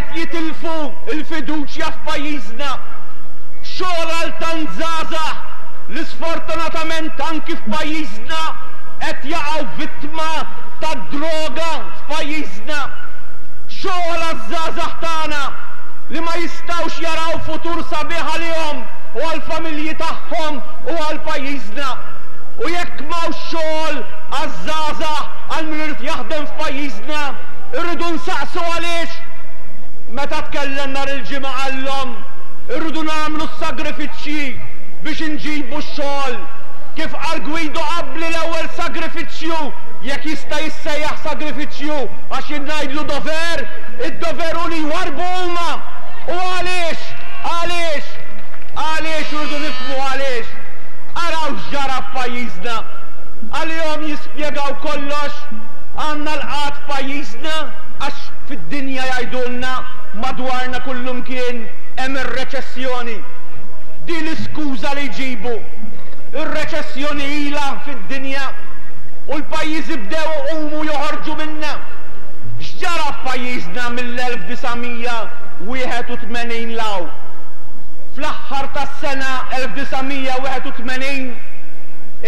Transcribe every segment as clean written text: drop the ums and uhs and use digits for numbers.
qed jitilfu l-fiduċja f'pajjiżna. Xogħol għal tant żgħażagħ li sfortunatament anki f'pajjiżna qed jaqgħu vittma tad-droga f'pajjiżna. Xogħol għaż-żgħażagħ tagħna li ma jistgħux jaraw futur sabiħ għalihom u għall-familji tagħhom u għal pajjiżna. U jekk m'hawnx xogħol għaż-żgħażagħ, għal min irid jaħdem f'pajjiżna, irridu nsaqsu għaliex? Meta tkellem nhar il-Ġimgħa qallhom, irridu nagħmlu s-sagrifiċċji biex inġibu x-xogħol. Kif qal Guido qabli l-ewwel sagrifiċċju, jekk jista' jissejjaħ sagrifiċċju għax jien ngħidlu dover, id-dover hu li jwarrbu huma. U għaliex? Għaliex? Għaliex irridu nifhmu għaliex. Araw x'ġara f'pajjiżna. Għalihom jispjegaw kollox. Għandna l-qgħad f'pajjiżna għax fid-dinja jgħidulna madwarna kullumkien hemm ir-reċessjoni. Din l-iskuża li jġibu. Ir-reċessjoni ilha fid-dinja u l-pajjiżi bdew iqumu joħorġu minnha. X'ġara f'pajjiżna mill-1981 'l hawn? Fl-aħħar tas-sena 1981,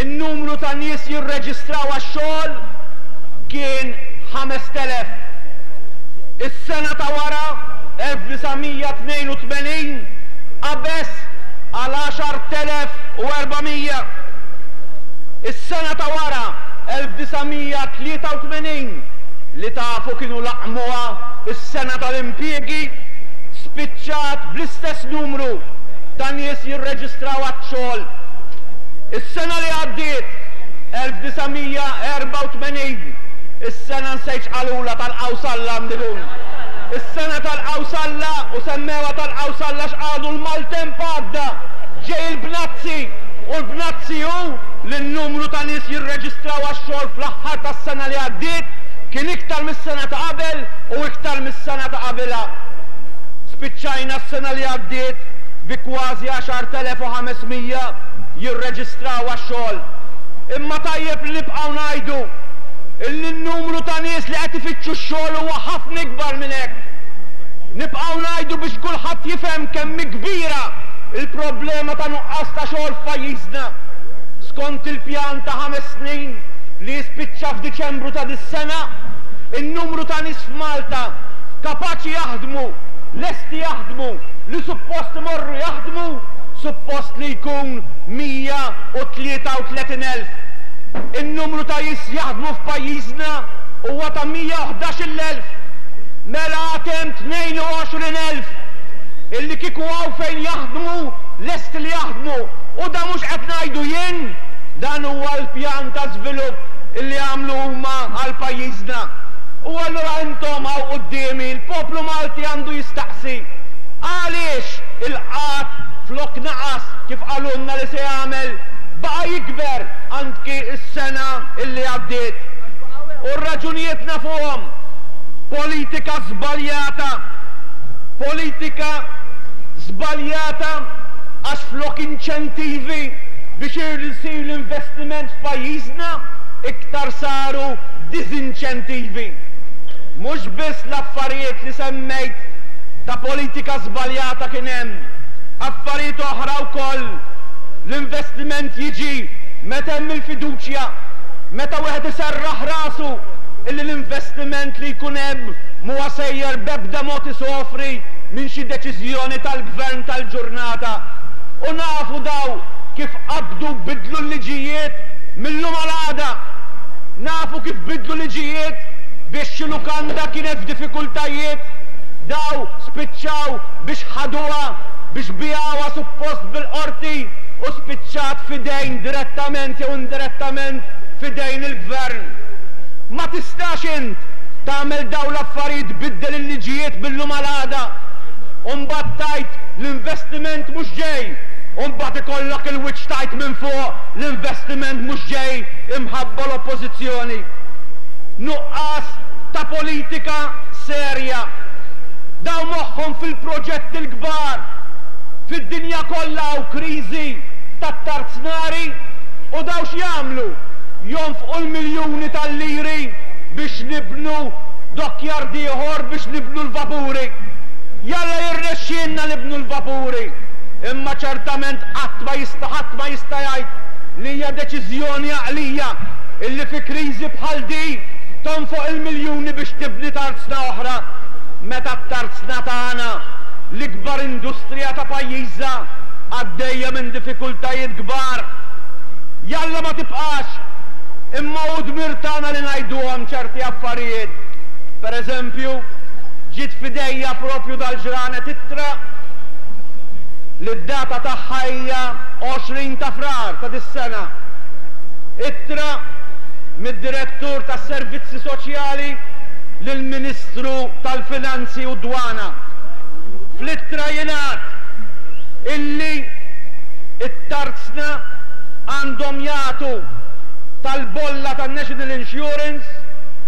in-numru ta' nies jirreġistraw għax-xogħol kien 5,000. Is-sena ta' wara, 1982, qabeż għal 10,400. Is-sena ta' wara, 1983, li tafu kienu laqqmuha s-sena tal-impjiegi, spiċċat bl-istess numru ta' nies jirreġistraw għax-xogħol. Is-sena li għaddiet, 1984, is-sena nsejt x'qalulha tal-Qawsalla għandikun. Is-sena tal-Qawsalla u semmewha tal-Qawsalla għax qalu l-maltemp għadda, ġej il-bnazzi u l-bnazzi hu li n-numru ta' nies jirreġistraw għax-xogħol fl-aħħar tas-sena li għaddiet kien iktar mis-sena ta' qabel u iktar mis-sena ta' qabilha. Spiċċajna s-sena li għaddiet bi kważi 10,500 jirreġistraw għax-xogħol. Imma tajjeb li nibqgħu ngħidu illi n-numru ta' nies li qed ifittxu x-xogħol huwa ħafna ikbar minn hekk. Nibqgħu ngħidu biex kulħadd jifhem kemm hi kbira l-problema ta' nuqqas ta' xogħol f'pajjiżna. Skont il-pjan ta' ħames snin li jispiċċa f'Diċembru ta' dis-sena, in-numru ta' nies f'Malta kapaċi jaħdmu, lesti jaħdmu, li suppost imorru jaħdmu, suppost li jkun 133,000. In-numru ta' nies jaħdmu f'pajjiżna huwa ta' 111,000. Mela għad hemm 22,000 illi kieku hawn fejn jaħdmu, lesti li jaħdmu. U dan mhux qed ngħidu jien, dan huwa l-pjan ta' żvilupp illi għamlu huma għal pajjiżna. U allura intom hawn quddiemi, l-poplu Malti għandu jistaqsi, għaliex il-qgħad flok naqas kif qalulna li se jagħmel, baqa' jikber anki s-sena illi għaddiet? U r-raġunijiet nafuhom, politika żbaljata, politika żbaljata għax flok inċentivi biex isir l-investiment f'pajjiżna, iktar saru diżinċentivi. Mhux biss l-affarijiet li semmejt ta' politika żbaljata kien hemm, affarijiet oħra wkoll. L-investiment jiġi meta hemm il-fiduċja, meta wieħed iserraħ rasu illi l-investiment li jkun hemm m'huwa sejjer b'ebda mod isofri minn xi deċiżjoni tal-gvern tal-ġurnata. U nafu daw kif qabdu bidlu l-liġijiet mil-lum għal għada. Nafu kif bidlu liġijiet biex xi lukanda kienet f'diffikultajiet, daw spiċċaw biex ħaduha, biex biegħuha suppost bil-qorti u spiċċat f'idejn direttament jew indirettament f'idejn il-Gvern. Ma tistax int tagħmel dawn l-affarijiet tbiddel il-liġijiet mil-lum għal għada u mbagħad tgħid l-investiment mhux ġej u mbagħad ikollok il-wiċċ tgħid minn fuq l-investiment mhux ġej imħabba l-Oppożizzjoni. Nuqqas ta' politika serja. Dawn moħħhom fil-proġetti l-kbar. Fid-dinja kollha hawn kriżi tat-tarznari u dawn x'jagħmlu? Jonfqu l-miljuni tal-liri biex nibnu dockyard ieħor biex nibnu l-vapuri. Jalla jirnexxielna nibnu l-vapuri, imma ċertament qatt ma jista' ħadd ma jista' jgħid li hija deċiżjoni għaqlija illi fi kriżi bħal di tonfoq il-miljuni biex tibni tarzna oħra meta t-tarzna tagħna, l-ikbar industrija ta' pajjiża, għaddejja minn diffikultajiet kbar. Jalla ma tibqax, imma hu dmir tagħna li ngħiduhom ċerti affarijiet. Per eżempju, ġiet f'idejja proprju dal-ġranet ittra li d-data tagħha hija 20 ta' Frar ta' dis-sena. Ittra mid-Direttur tas-Servizzi Soċjali lill-Ministru tal-Finanzi u d-Dwana. Fl-ittra jingħad illi t-tarzna għandhom jagħtu tal-bolla tan-National Insurance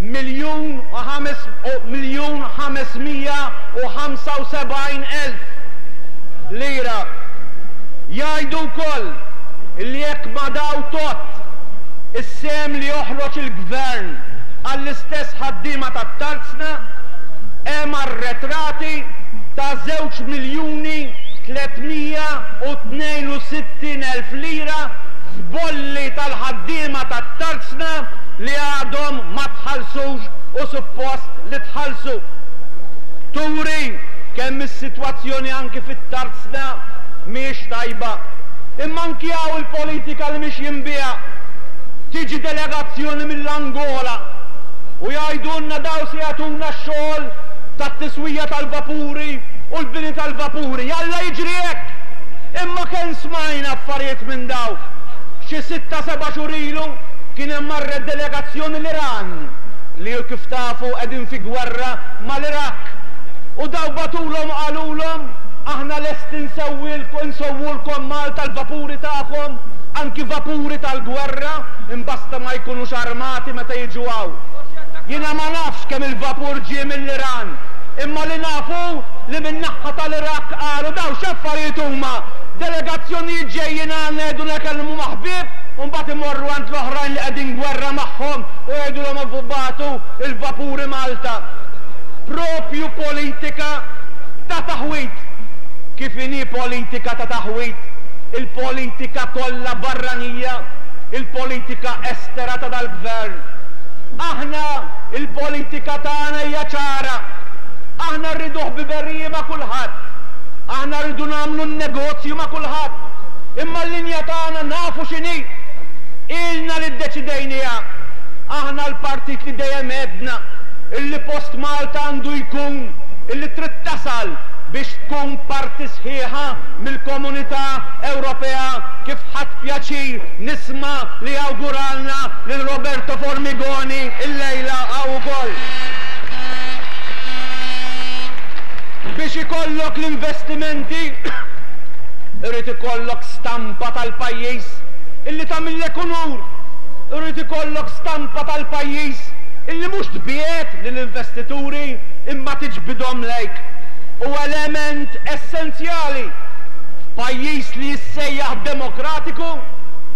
1,575,000 lira. Jgħidu wkoll illi jekk ma daw tgħodd is-sehem li joħroġ il-Gvern għall-istess ħaddiema tat-tarzna, hemm arretrati ta' 2,362,000 lira f'bolli tal-ħaddiema tat-tarzna li għadhom ma tħallsux u suppost li tħallsu. Turi kemm is-sitwazzjoni anki fit-tarzna mhijiex tajba. Imma anki hawn il-politika li mixjin biha. Tiġi delegazzjoni mill-Angola u jgħidulna dawn se jagħtuna x-xogħol tat-tiswija tal-vapuri u l-bini tal-vapuri. Jalla jiġri hekk! Imma kemm smajna affarijiet minn dawn. Xi sitta seba' xhur ilu kien hemm marret delegazzjoni l-Iran li kif tafu qegħdin fi gwerra mal-Iraq. U dawn bagħtulhom u qalulhom aħna lesti nsewwulkom Malta l-vapuri tagħkom, anki vapuri tal-gwerra, imbasta ma jkunux armati meta jiġu hawn. Jiena ma nafx kemm il-vapur ġie mill-Iran, imma li naf hu li min-naħha tal-Iraq qalu dawn x'affarijiet huma, delegazzjonijiet ġejjin għandna jgħidulna kellmu ma' ħbieb u mbagħad imorru għand l-oħrajn li qegħdin gwerra magħhom u jgħidulhom ibagħtu l-vapuri Malta. Propju politika ta' taħwid. Kif inhi politika ta' taħwid il-politika kollha barranija, il-politika estera ta' dal-Gvern. Aħna il-politika tagħna hija ċara. Aħna rridu ħbiberiji ma' kulħadd. Aħna rridu nagħmlu n-negozju ma' kulħadd. Imma l-linja tagħna nafu x'inhi. Ilna li ddeċidejniha. Aħna l-partit li dejjem għedna illi post Malta għandu jkun illi trid tasal biex tkun parti sħiħa mill-Komunità Ewropea kif ħadt pjaċir nisma' li awguralna lil Roberto Formigoni illejla hawn ukoll. Biex ikollok l-investimenti irid ikollok stampa tal-pajjiż illi tagħmillek unur. Irid ikollok stampa tal-pajjiż illi mhux tbiegħed lill-investituri imma tiġbidhom lejk. Hu element essenzjali f'pajjiż li jissejjaħ demokratiku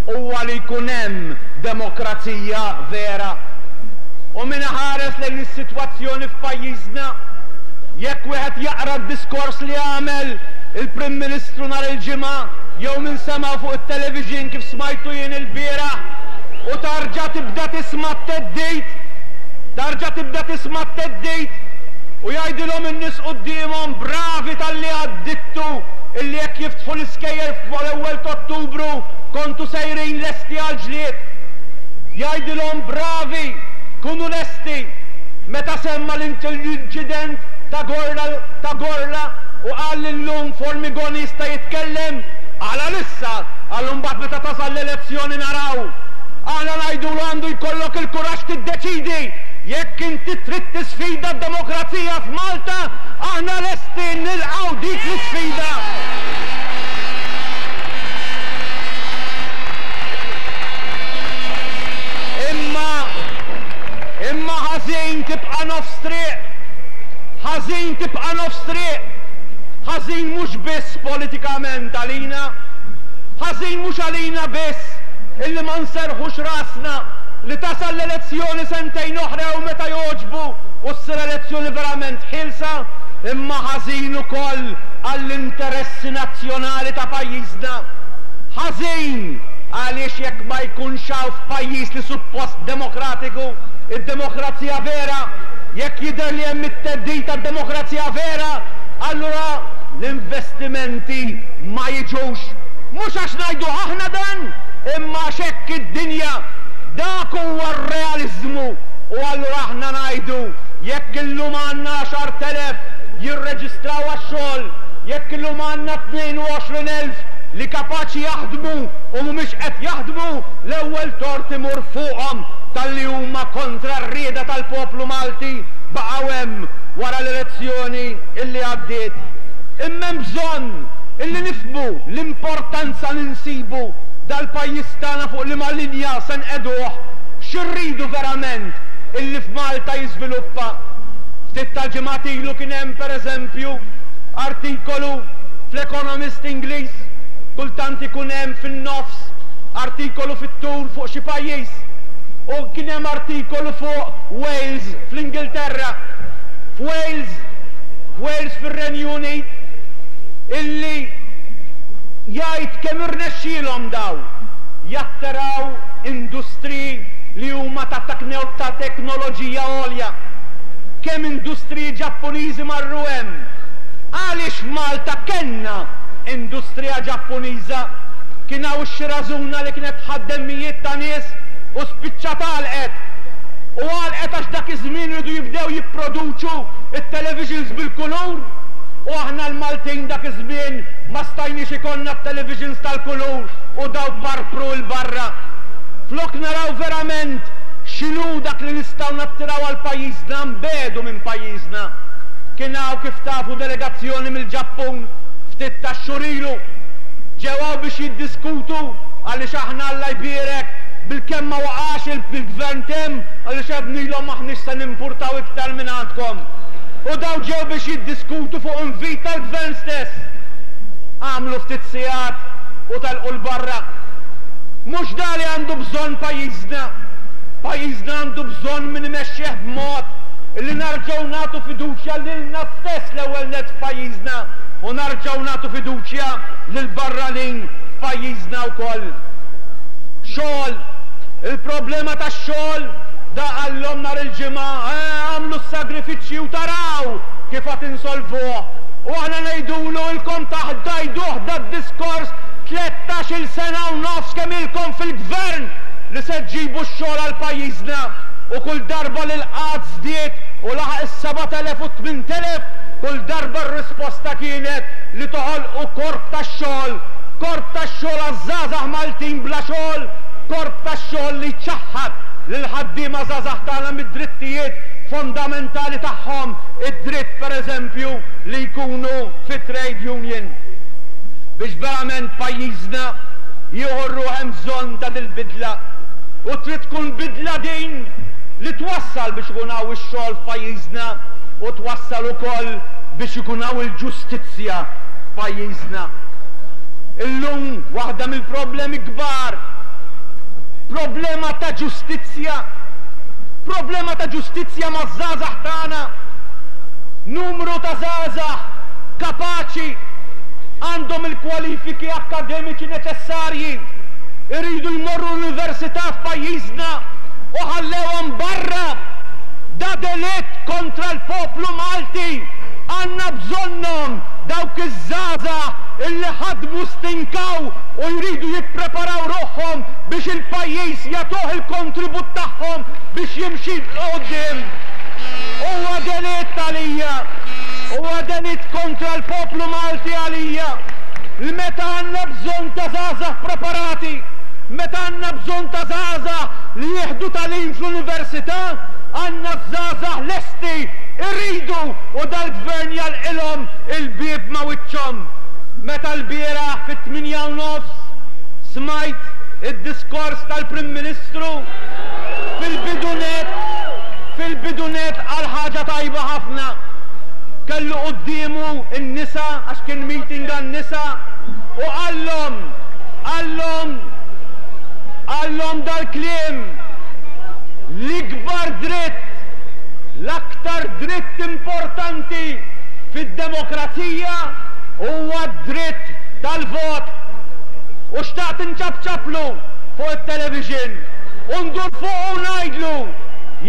huwa li jkun hemm demokrazija vera. U min iħares lejn is-sitwazzjoni f'pajjiżna, jekk wieħed jaqra d-diskors li għamel il-Prim Ministru nhar il-Ġimgħa jew min semgħu fuq it-television kif smajtu jien ilbieraħ u tarġa' tibda tisma' t-theddid, tarġa' tibda tisma' t-theddid u jgħidilhom in-nies quddiemhom bravi talli għaddittu illi jekk jiftħu l-iskejjel fl-ewwel t'Ottubru kontu sejrin lesti għall-ġlied. Jgħidilhom bravi, kunu lesti. Meta semma l-inċident ta' Gorla ta' Gorla u qal li llum Formigoni jista' jitkellem, qal għalissa, qal imbagħad meta tasal l-elezzjoni naraw. Aħna ngħidulu għandu jkollok il-kuraġġ tiddeċidi jekk inti trid tisfida d-demokrazija f'Malta, aħna lesti nilqgħu dik l-isfida. Imma, imma ħażin tibqa' nofs triq. Ħażin tibqa' nofs triq. Ħażin mhux biss politikament għalina. Ħażin mhux għalina biss illi ma nserrħux rasna li tasal l-elezzjoni sentejn oħra jew meta jogħġbu u ssir elezzjoni verament ħielsa, imma ħażin ukoll għall-interessi nazzjonali ta' pajjiżna. Ħażin għaliex jekk ma jkunx hawn f'pajjiż li suppost demokratiku, id-demokrazija vera, jekk jidher li hemm it-theddid tad-demokrazija vera, allura l-investimenti ma jiġux. Mhux għax ngħiduh aħna dan, imma għax hekk id-dinja. Dak huwa r-realiżmu. U allura aħna ngħidu, jekk illum għandna 10,000 jirreġistraw għax-xogħol, jekk illum għandna 22,000 li kapaċi jaħdmu u mhumiex qed jaħdmu, l-ewwel tort imur fuqhom talli huma kontra r-rieda tal-poplu Malti baqgħu hemm wara l-elezzjoni illi għaddiet. Imma hemm bżonn illi nifhmu l-importanza li nsibu dal-pajjiż tagħna fuq liema linja se nqegħduh, xi rridu verament illi f'Malta jiżviluppa. Ftit tal-ġimgħat ilu kien hemm per eżempju artikolu fl-Economist Ingliż, kultant ikun hemm fin-nofs artikolu fit-tul fuq xi pajjiż, u kien hemm artikolu fuq Wales fl-Ingilterra. F'Wales, f'Wales fir-Renju Unit, illi jgħid kemm irnexxielhom daw jattiraw industriji li huma ta' ta' teknoloġija għolja. Kemm industriji Ġappuniżi marru hemm. Għaliex f'Malta kellna industrija Ġappuniża? Kien hawn ix-Shirazuna li kienet tħaddem mijiet ta' nies u spiċċat għalqet. U għalqet għax dak iż-żmien riedu jibdew jipproduċu t-televisions bil-kulur u aħna l-Maltin dak iż-żmien ma stajniex ikollna t-televisions tal-kulur u dawk parpru 'l barra. Flok naraw verament x'inhu dak li nistgħu nattiraw għal pajjiżna nbiegħdu minn pajjiżna. Kien hawn kif tafu delegazzjoni mill-Ġappun ftit tax-xhur ilu. Ġew hawn biex jiddiskutu għaliex aħna Alla jbierek bilkemm ma waqax il-gvern t'hemm għaliex għednilhom m'aħniex se nimpurtaw iktar mingħandkom. U dawn ġew biex jiddiskutu fuq invit tal-gvern stess. Għamlu ftit sigħat u telqu 'l barra. Mhux da li għandu bżonn pajjiżna. Pajjiżna għandu bżonn min imexxih b'mod li narġgħu nagħtu fiduċja lilna stess l-ewwel nett f'pajjiżna u narġgħu nagħtu fiduċja lill-barranin f'pajjiżna wkoll. Xogħol. Il-problema tax-xogħol, da qallhom nhar il-Ġimgħa, eh, agħmlu s-sagrifiċċji u taraw kif għad insolvuh. U aħna ngħidulu ilkom tgħiduh dad-diskors 13-il sena u nofs kemm ilkom fil-gvern li se ġġibu x-xogħol għal pajjiżna u kull darba li l-qgħad żdied u laħaq is-7,000 u t-8,000, kull darba r-risposta kienet li toħolqu korp tax-xogħol, korp tax-xogħol għaż-żgħażagħ Maltin bla xogħol, korp tax-xogħol li jċaħħad lill-ħaddiema żgħażagħ tagħna mid-drittijiet fondamentali tagħhom, id-dritt per eżempju li jkunu fi trade union. Biex verament pajjiżna jieħu r-ruħ hemm bżonn ta' dil-bidla. U trid tkun bidla din li twassal biex ikun hawn ix-xogħol f'pajjiżna u twassal ukoll biex ikun hawn il-ġustizzja f'pajjiżna. Illum waħda mill-problemi kbar, problema ta' ġustizzja, problema ta' ġustizzja maż-żgħażagħ tagħna. Numru ta' żgħażagħ kapaċi, għandhom il-kwalifiki akkademiċi neċessarji, iridu jmorru l-università f'pajjiżna u ħallewhom barra. Da delitt kontra l-poplu Malti. Għandna bżonnhom dawk iż-żgħażagħ illi ħadmu, stinkaw u jridu jippreparaw ruħhom biex il-pajjiż jagħtuh il-kontribut tagħhom biex jimxi 'l quddiem. Huwa delitt għalija, huwa delitt kontra l-poplu Malti għalija li meta għandna bżonn ta' żgħażagħ preparati, meta għandna bżonn ta' żgħażagħ li jieħdu tagħlim fl-università, għandna ż-żgħażagħ lesti, iridu u dal-Gvern jagħlqilhom il-bieb ma' wiċċhom. Meta lbieraħ fit-tmienja u nofs smajt id-diskors tal-Prim Ministru, fil-bidu nett, fil-bidu nett qal ħaġa tajba ħafna. Kellu quddiemu n-nisa għax kien meeting għan-nisa u qallhom, qallhom, qallhom dal-kliem, L-ikbar dritt, l-aktar dritt importanti fid-demokrazija huwa d-dritt tal-vot. U xtaqt inċapċaplu fuq it-television u ndur fuqu u ngħidlu,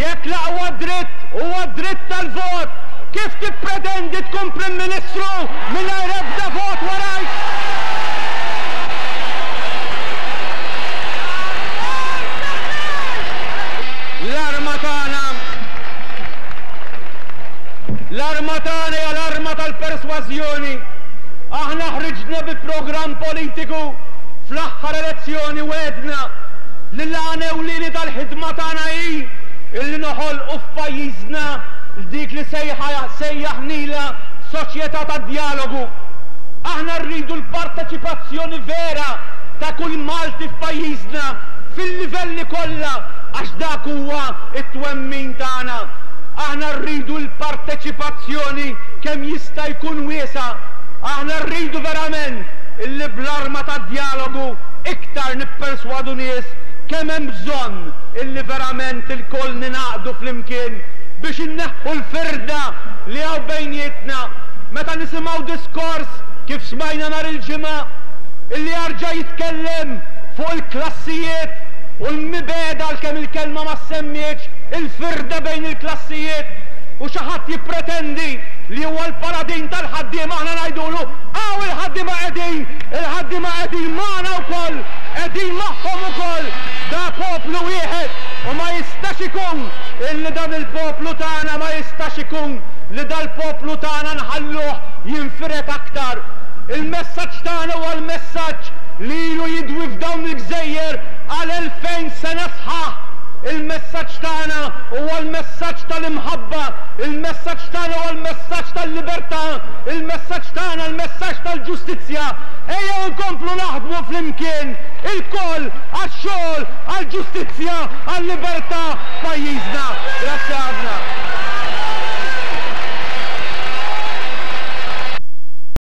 jekk l-aqwa dritt huwa d-dritt tal-vot, kif tippretendi tkun Prim Ministru mingħajr ebda vot warajk? L-arma tagħna L-arma tagħna hija l-arma tal-persważjoni. Aħna ħriġna bi programm politiku fl-aħħar elezzjoni wegħdna li l-għan ewlieni tal-ħidma tagħna hi illi noħolqu f'pajjiżna dik li sejjaħnilha soċjetà tad-djalogu. Aħna rridu l-parteċipazzjoni vera ta' kull Malti f'pajjiżna fil-livelli kollha għax dak huwa t-twemmin tagħna. Aħna rridu l-parteċipazzjoni kemm jista' jkun wiesgħa. Aħna rridu verament illi bl-arma tad-djalogu iktar nipperswadu nies kemm hemm bżonn illi verament ilkoll ningħaqdu flimkien biex inneħħu l-firda li hawn bejnietna. Meta nisimgħu diskors kif smajna nhar il-Ġimgħa illi jarġa' jitkellem fuq il-klassijiet u l-mibegħda għalkemm il-kelma ma ssemmietx, il-firda bejn il-klassijiet, u xi ħadd jippretendi li huwa l-paladin tal-ħaddiema aħna ngħidulu hawn il-ħaddiema qegħdin, il-ħaddiema qegħdin magħna wkoll, qegħdin magħhom ukoll, da poplu wieħed u ma jistax ikun illi dan il-poplu tagħna ma jistax ikun li dal-poplu tagħna nħalluh jinfired aktar. Il-messaġġ tagħna huwa l-messaġġ li ilu jidwi f'dawn il-gżejjer għal 2000 sena sħaħ. Il-messaġġ tagħna huwa l-messaġġ tal-imħabba, il-messaġġ tagħna huwa l-messaġġ tal-libertà, il-messaġġ tagħna l-messaġġ tal-ġustizzja. Ejjew inkomplu naħdmu flimkien ilkoll għax-xogħol, għall-ġustizzja, għal-libertà f'pajjiżna. Grazzi ħafna.